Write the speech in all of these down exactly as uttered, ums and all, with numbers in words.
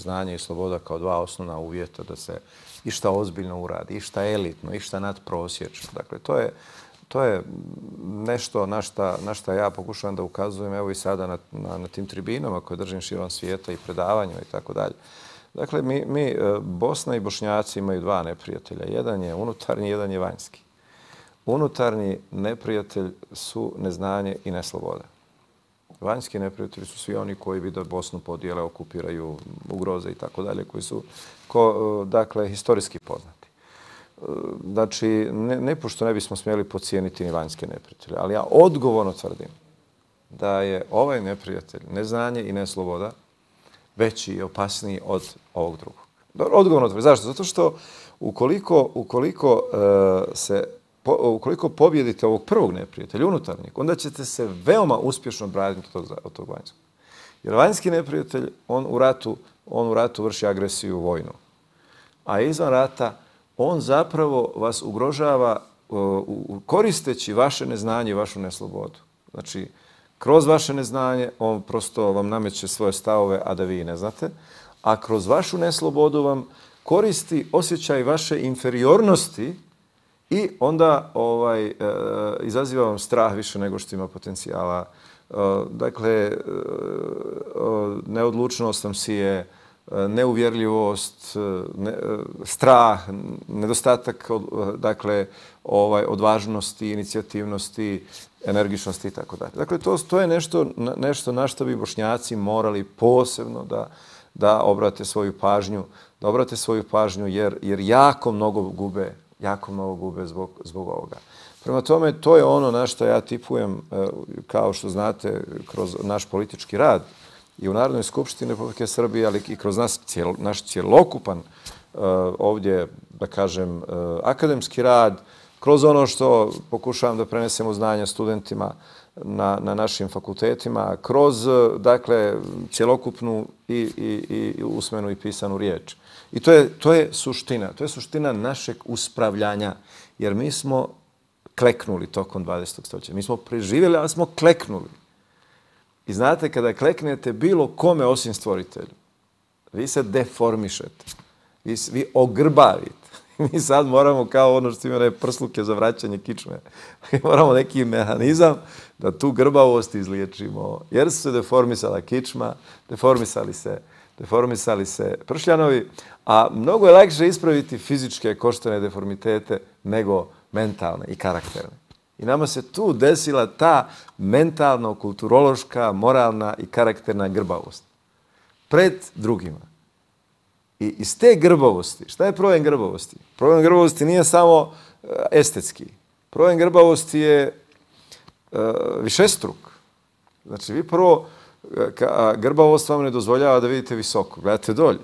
znanje i sloboda kao dva osnovna uvjeta da se išta ozbiljno uradi, išta elitno, išta nadprosječno. Dakle, to je, to je nešto na šta, na šta ja pokušavam da ukazujem evo i sada na, na, na tim tribinama koje držim širom svijeta i predavanjima i tako dalje. Dakle, mi, mi, Bosna i Bošnjaci imaju dva neprijatelja. Jedan je unutarnji, jedan je vanjski. Unutarnji neprijatelj su neznanje i nesloboda. Vanjski neprijatelji su svi oni koji bi da Bosnu podijele, okupiraju, ugroze i tako dalje, koji su ko, dakle, historijski poznati. Znači, ne, ne pošto ne bismo smjeli podcijeniti ni vanjske neprijatelje, ali ja odgovorno tvrdim da je ovaj neprijatelj, neznanje i nesloboda, veći i opasniji od ovog drugog. Odgovorno tvrdim. Zašto? Zato što ukoliko, ukoliko uh, se Po, ukoliko pobjedite ovog prvog neprijatelja, unutarnjeg, onda ćete se veoma uspješno braniti od tog, od tog vanjskog. Jer vanjski neprijatelj, on u ratu, on u ratu vrši agresiju vojnu. A izvan rata, on zapravo vas ugrožava uh, koristeći vaše neznanje i vašu neslobodu. Znači, kroz vaše neznanje, on prosto vam nameće svoje stavove, a da vi ne znate. A kroz vašu neslobodu vam koristi osjećaj vaše inferiornosti i onda ovaj, e, izaziva vam strah više nego što ima potencijala. E, dakle, e, neodlučnost vam sije, neuvjerljivost, ne, strah, nedostatak dakle, ovaj, odvažnosti, inicijativnosti, energičnosti i tako dalje. Dakle, to, to je nešto, nešto na što bi Bošnjaci morali posebno da, da obrate svoju pažnju, da obrate svoju pažnju jer, jer jako mnogo gube jako mnogo gube zbog, zbog ovoga. Prema tome, to je ono na što ja tipujem, kao što znate, kroz naš politički rad i u Narodnoj skupštini Republike Srbije, ali i kroz nas, cijel, naš cjelokupan ovdje, da kažem, akademski rad, kroz ono što pokušavam da prenesemo znanja studentima na, na našim fakultetima, kroz, dakle, cjelokupnu i, i, i usmenu i pisanu riječ. I to je, to je suština. To je suština našeg uspravljanja. Jer mi smo kleknuli tokom dvadesetog stoljeća. Mi smo preživjeli, ali smo kleknuli. I znate, kada kleknete bilo kome osim stvoritelju, vi se deformišete. Vi, vi ogrbavite. Mi sad moramo, kao ono što ima ne prsluke za vraćanje kičme, moramo neki mehanizam da tu grbavost izliječimo. Jer su se deformisala kičma, deformisali se deformisali se pršljanovi, a mnogo je lakše ispraviti fizičke koštane deformitete nego mentalne i karakterne. I nama se tu desila ta mentalno-kulturološka, moralna i karakterna grbavost pred drugima. I iz te grbavosti, šta je problem grbavosti? Problem grbavosti nije samo estetski. Problem grbavosti je uh, višestruk. Znači, vi prvo grbavost vam ne dozvoljava da vidite visoko. Gledate dolje.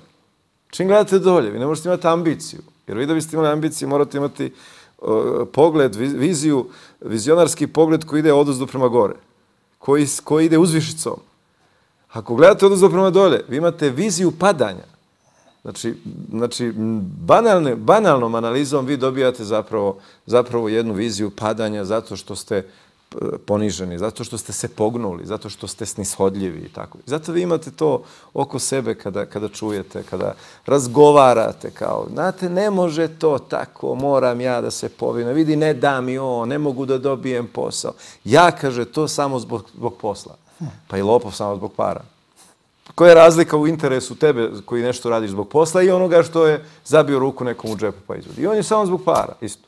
Čim gledate dolje, vi ne možete imati ambiciju. Jer vi da biste imali ambiciju, morate imati uh, pogled, viziju, vizionarski pogled koji ide odozdo prema gore. Koji, koji ide uzvišicom. Ako gledate odozdo prema dolje, vi imate viziju padanja. Znači, znači banalne, banalnom analizom vi dobijate zapravo, zapravo jednu viziju padanja zato što ste poniženi, zato što ste se pognuli, zato što ste snishodljivi i tako. Zato vi imate to oko sebe kada, kada čujete, kada razgovarate kao, znate, ne može to tako, moram ja da se povinem, vidi, ne da mi on, ne mogu da dobijem posao. Ja, kaže, to samo zbog, zbog posla. Pa i lopov samo zbog para. Koja je razlika u interesu tebe koji nešto radiš zbog posla i onoga što je zabio ruku nekom u džepu pa izvodi. I on je samo zbog para, isto.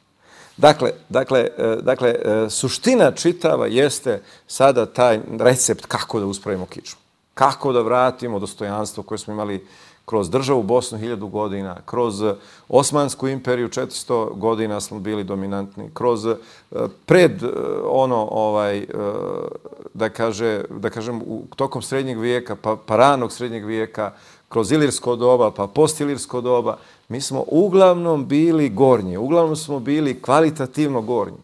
Dakle, dakle, dakle, suština čitava jeste sada taj recept kako da uspravimo kičmu. Kako da vratimo dostojanstvo koje smo imali kroz državu Bosnu hiljadu godina, kroz Osmansku imperiju četiristo godina smo bili dominantni, kroz pred ono, ovaj, da, kaže, da kažem, u tokom srednjeg vijeka, pa, pa ranog srednjeg vijeka, kroz ilirsko doba, pa postilirsko doba, mi smo uglavnom bili gornji, uglavnom smo bili kvalitativno gornji.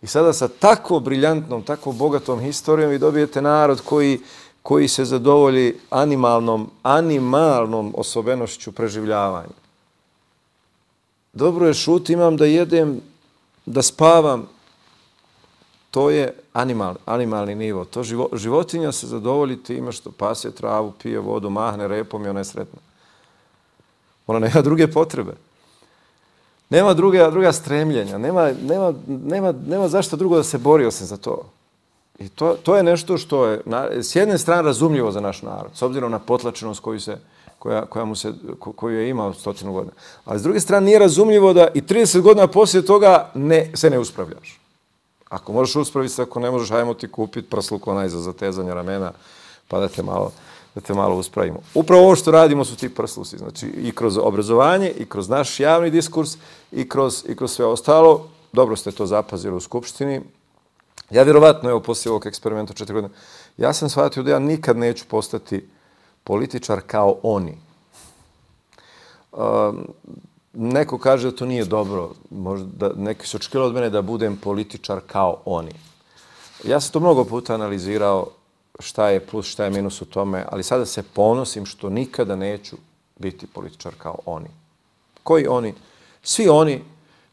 I sada sa tako briljantnom, tako bogatom historijom vi dobijete narod koji, koji se zadovolji animalnom, animalnom osobenošću preživljavanja. Dobro je, šut, imam da jedem, da spavam. To je animal, animalni nivo. To živo, životinja se zadovolji time što pasje travu, pije vodu, mahne repom i ona je sretna. Ona nema druge potrebe. Nema druga, druga stremljenja. Nema, nema, nema, nema zašto drugo da se bori osim za to. I to, to je nešto što je na, s jedne strane razumljivo za naš narod, s obzirom na potlačenost koju, se, koja, koja mu se, koju je imao stotinu godina. Ali s druge strane nije razumljivo da i trideset godina poslije toga ne, se ne uspravljaš. Ako možeš uspraviti se, ako ne možeš, hajmo ti kupiti prsluk onaj za zatezanje ramena, pa da te malo, da te malo uspravimo. Upravo ovo što radimo su ti prsluci. Znači i kroz obrazovanje, i kroz naš javni diskurs, i kroz, i kroz sve ostalo. Dobro ste to zapazili u Skupštini. Ja vjerovatno, evo, poslije ovog eksperimenta četiri godine, ja sam shvatio da ja nikad neću postati političar kao oni. Um, neko kaže da to nije dobro. Možda neki su očekivali od mene da budem političar kao oni. Ja sam to mnogo puta analizirao šta je plus, šta je minus u tome, ali sada se ponosim što nikada neću biti političar kao oni. Koji oni? Svi oni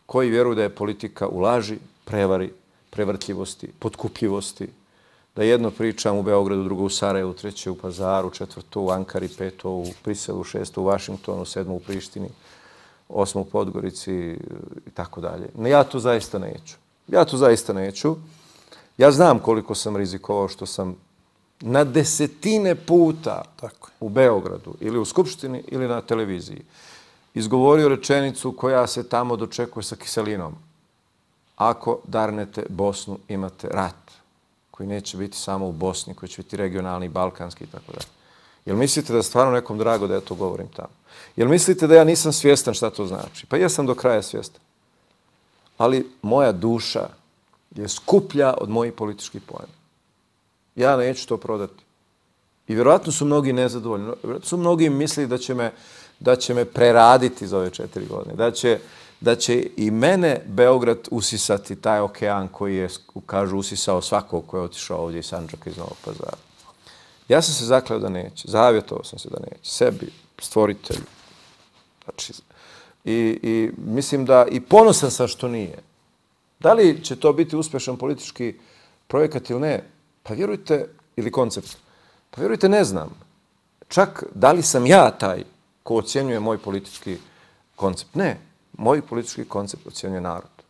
koji vjeruju da je politika u laži, prevari, prevrtljivosti, potkupljivosti, da jedno pričam u Beogradu, drugo u Sarajevu, treće u Pazaru, četvrto u Ankari, peto u Briselu, šesto u Vašingtonu, sedmo u Prištini, osmo u Podgorici i tako dalje. No, ja to zaista neću. Ja to zaista neću. Ja znam koliko sam rizikovao što sam na desetine puta tako u Beogradu ili u Skupštini ili na televiziji izgovorio rečenicu koja se tamo dočekuje sa kiselinom. Ako darnete Bosnu, imate rat koji neće biti samo u Bosni, koji će biti regionalni, balkanski i tako dalje. Jel mislite da je stvarno nekom drago da ja to govorim tamo? Jel mislite da ja nisam svjestan šta to znači? Pa jesam do kraja svjestan. Ali moja duša je skuplja od mojih političkih poena. Ja neću to prodati. I vjerojatno su mnogi nezadovoljni. Vjerojatno su mnogi mislili da će me, da će me preraditi za ove četiri godine. Da će, da će i mene Beograd usisati taj okean koji je, kažu, usisao svakog ko je otišao ovdje iz Sandžaka, iz Novog Pazara. Ja sam se zakleo da neće. Zavjetovao sam se da neće. Sebi, stvoritelju. Znači, i, i mislim da i ponosan sam što nije. Da li će to biti uspješan politički projekat ili ne? Pa vjerujte, ili koncept, pa vjerujte, ne znam. Čak da li sam ja taj ko ocjenjuje moj politički koncept? Ne. Moj politički koncept ocjenjuje narod.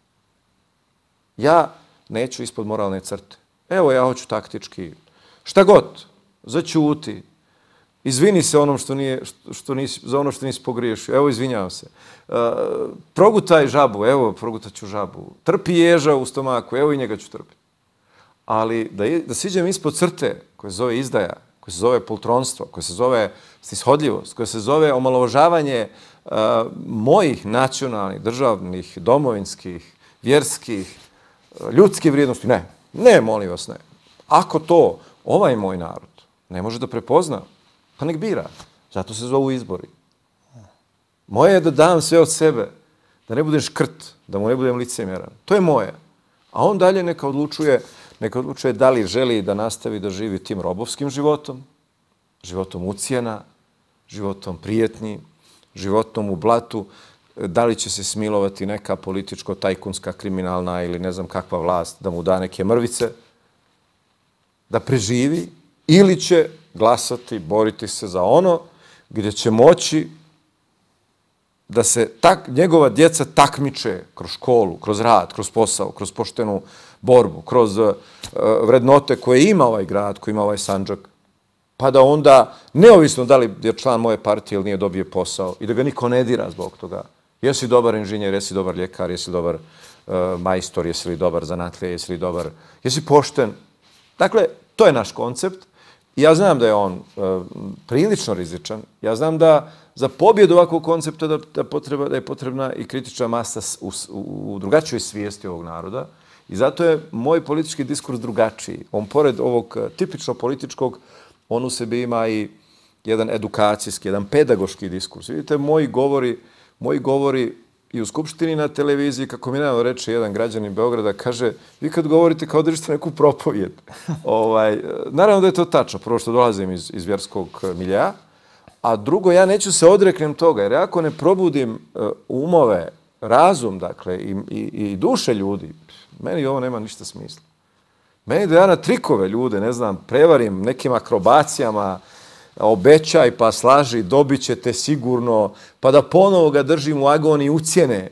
Ja neću ispod moralne crte. Evo, ja hoću taktički. Šta god. Zaćuti. Izvini se onom što nije, što nisi, za ono što nisi pogriješio. Evo, izvinjavam se. Uh, progutaj žabu. Evo, progutat ću žabu. Trpi ježa u stomaku. Evo, i njega ću trpiti. Ali da, je, da siđem ispod crte koja se zove izdaja, koja se zove poltronstvo, koja se zove snishodljivost, koja se zove omalovažavanje uh, mojih nacionalnih, državnih, domovinskih, vjerskih, uh, ljudskih vrijednosti. Ne, ne, molim vas, ne. Ako to ovaj moj narod ne može da prepozna, pa nek bira. Zato se zovu izbori. Moje je da dam sve od sebe, da ne budem škrt, da mu ne budem licemjeran. To je moje. A on dalje neka odlučuje, neka odlučuje da li želi da nastavi da živi tim robovskim životom, životom ucjena, životom prijetnji, životom u blatu, da li će se smilovati neka političko-tajkunska, kriminalna ili ne znam kakva vlast da mu da neke mrvice, da preživi, ili će glasati, boriti se za ono gdje će moći da se tak, njegova djeca takmiče kroz školu, kroz rad, kroz posao, kroz poštenu borbu, kroz uh, vrednote koje ima ovaj grad, koji ima ovaj Sandžak, pa da onda, neovisno da li je član moje partije ili nije, dobije posao i da ga niko ne dira zbog toga. Jesi dobar inženjer, jesi dobar ljekar, jesi dobar uh, majstor, jesi li dobar zanatlija, jesi li dobar, jesi pošten. Dakle, to je naš koncept. Ja znam da je on uh, prilično rizičan. Ja znam da za pobjedu ovakvog koncepta da, da, potreba, da je potrebna i kritična masa u, u, u drugačijoj svijesti ovog naroda. I zato je moj politički diskurs drugačiji. On, pored ovog tipično političkog, on u sebi ima i jedan edukacijski, jedan pedagoški diskurs. Vidite, moji govori, moji govori i u Skupštini, na televiziji, kako mi nedavno reče jedan građanin Beograda, kaže, vi kad govorite kao držite neku propovijed. ovaj, naravno da je to tačno, prvo što dolazim iz, iz vjerskog milja, a drugo, ja neću se odreknem toga, jer ako ne probudim uh, umove, razum, dakle, i, i, i duše ljudi, meni ovo nema ništa smisla. Meni da ja na trikove ljude, ne znam, prevarim nekim akrobacijama, obećaj, pa slaži, dobit ćete sigurno, pa da ponovo ga držim u agoniji ucjene,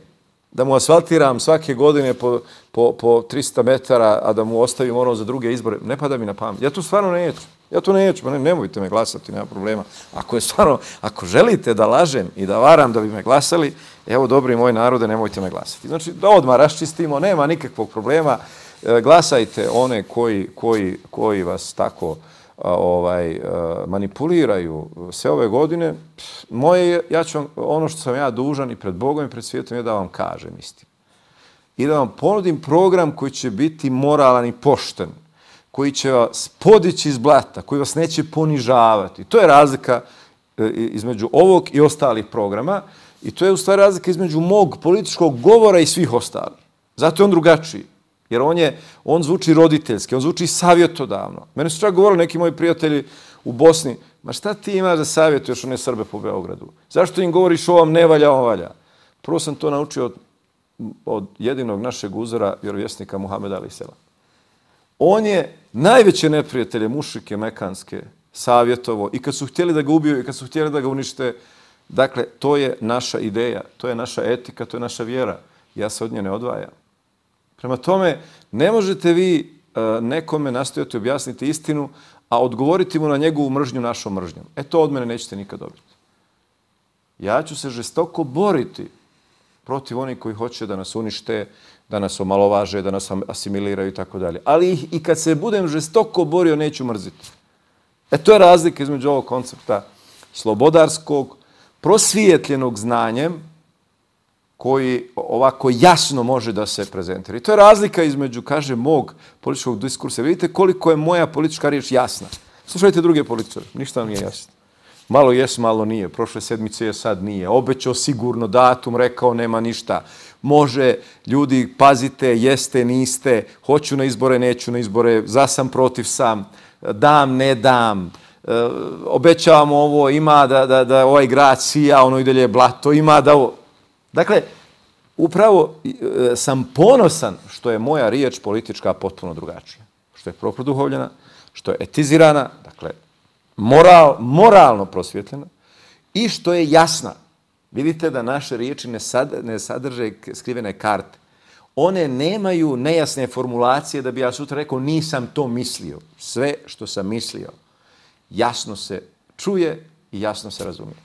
da mu asfaltiram svake godine po, po, po tristo metara, a da mu ostavim ono za druge izbore. Ne pada mi na pamet. Ja to stvarno neću. Ja to neću, pa ne, nemojte me glasati, nema problema. Ako je stvarno, ako želite da lažem i da varam da bi me glasali, evo, dobri moj narode, nemojte me glasati. Znači, da odmah raščistimo, nema nikakvog problema. E, glasajte one koji, koji, koji vas tako a, ovaj, a, manipuliraju sve ove godine. Moje, ja ću vam, ono što sam ja dužan i pred Bogom i pred svijetom je da vam kažem istinu. I da vam ponudim program koji će biti moralan i pošten, koji će vas podići iz blata, koji vas neće ponižavati. To je razlika između ovog i ostalih programa i to je u stvari razlika između mog političkog govora i svih ostalih. Zato je on drugačiji, jer on, je, on zvuči roditeljski, on zvuči savjetodavno. Mene su čak govorili neki moji prijatelji u Bosni, ma šta ti imaš da savjetuješ one Srbe po Beogradu? Zašto im govoriš o ovom ne valja, on valja? Prvo sam to naučio od, od jedinog našeg uzora, vjerovjesnika Muhameda alejhi selam. On je najveće neprijatelje mušike mekanske savjetovo i kad su htjeli da ga ubiju i kad su htjeli da ga unište. Dakle, to je naša ideja, to je naša etika, to je naša vjera. Ja se od nje ne odvajam. Prema tome, ne možete vi uh, nekome nastojati objasniti istinu, a odgovoriti mu na njegovu mržnju našom mržnjom. E to od mene nećete nikad dobiti. Ja ću se žestoko boriti protiv onih koji hoće da nas unište, da nas omalovaže, da nas asimiliraju i tako dalje. Ali i kad se budem žestoko borio, neću mrziti. E to je razlika između ovog koncepta slobodarskog, prosvijetljenog znanjem, koji ovako jasno može da se prezentira. I to je razlika između, kaže, mog političkog diskursa. Vidite koliko je moja politička riječ jasna. Slušajte druge političare, ništa vam nije jasno. Malo jes, malo nije. Prošle sedmice je, sad nije. Obećao sigurno datum, rekao nema ništa. Može, ljudi, pazite, jeste, niste, hoću na izbore, neću na izbore, za sam, protiv sam, dam, ne dam, e, obećavamo ovo, ima da, da, da ovaj grad sija, ono i dalje je blato, ima da ovo. Dakle, upravo e, sam ponosan što je moja riječ politička potpuno drugačija. Što je proproduhovljena, što je etizirana, dakle, moral, moralno prosvjetljena i što je jasna. Vidite da naše riječi ne, sad, ne sadrže skrivene karte. One nemaju nejasne formulacije da bi ja sutra rekao nisam to mislio. Sve što sam mislio jasno se čuje i jasno se razumije.